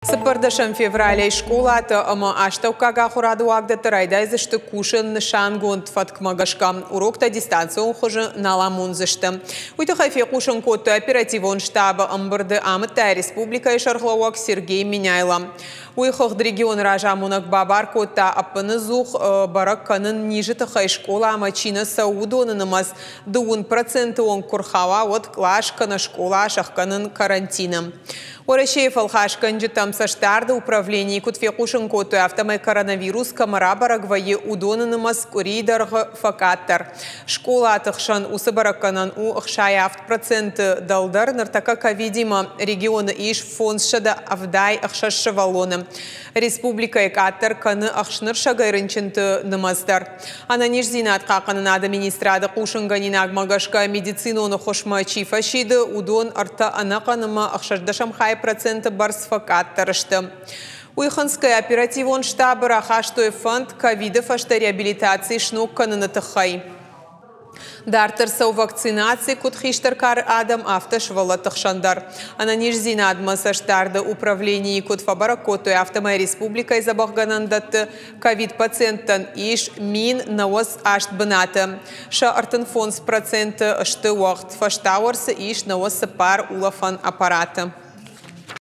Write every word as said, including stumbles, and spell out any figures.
Цыппӕрдӕсӕм февралӕй скъолаты ӕмӕ астӕуккаг ахуырады уагдӕтты райдайдзысты кусын нысангонд фӕткмӕ гӕсгӕ. Уроктӕ дистанцион хуызы нал амондзысты. Уый тыххӕй фехъусын кодтой оперативон штабы ӕмбырды, амыдта республикӕйы сӕргълӕууӕг Сергей Меняйло. Уый хыгъд регионы разамонӕг бабар кодта ӕппынӕдзух бӕрӕг кӕнын низы тыххӕй скъоламӕ чи нӕ цӕуы, уыдоны нымӕц дыууын проценты онг куы рхауа, уӕд кълас кӕнӕ скъола сӕхгӕнын карантины. Уӕрӕсейы фӕлхасгӕнджытӕм цӕстдарды управленийы куыд фехъусын кодтой, афтӕмӕй коронавирус кӕмӕ рабӕрӕг вӕййы, уыдоны нымӕц къуырийы дӕргъы фӕкъаддӕр. Скъолаты хсӕн уыцы бӕрӕггӕнӕн у ӕхсай авд проценты дӕлдӕр. Ныртӕккӕ ковидимӕ регионы ис фондзсӕдӕ ӕвдай ӕхсӕз сывӕллоны. Республикӕйы къаддӕр кӕны ӕхснырсӕгӕй рынчынты нымӕц дӕр. Ӕнӕниздзинад хъахъхъӕнынады министрады хъусынгӕнинагмӕ гӕсгӕ медицинон ӕххуысмӕ чи фӕсиды, уыдон ӕртӕ ӕнӕхъӕн ӕмӕ ӕхсӕздӕсӕм хай проценты бӕрц фӕкъаддӕр сты. Уый хынцгӕйӕ оперативон штабы рахастой фӕнд ковиды фӕстӕ реабилитаци сног кӕныны тыххӕй. Дарддӕр цӕуы вакцинаци куыд хистӕр кары адӕм, афтӕ сывӕллӕтты хсӕн дӕр. Ӕнӕниздзинадмӕ цӕстдарды управленийы куыд фӕбӕрӕг кодтой, афтӕмӕй республикӕйы дзӕбӕхгӕнӕндӕтты ковид-пациенттӕн ис мин нӕуӕдз аст бынаты. Сӕ ӕртын фондз проценты сты уӕгъд, фӕстауӕрцы ис нӕуӕдз цыппар улӕфӕн аппараты.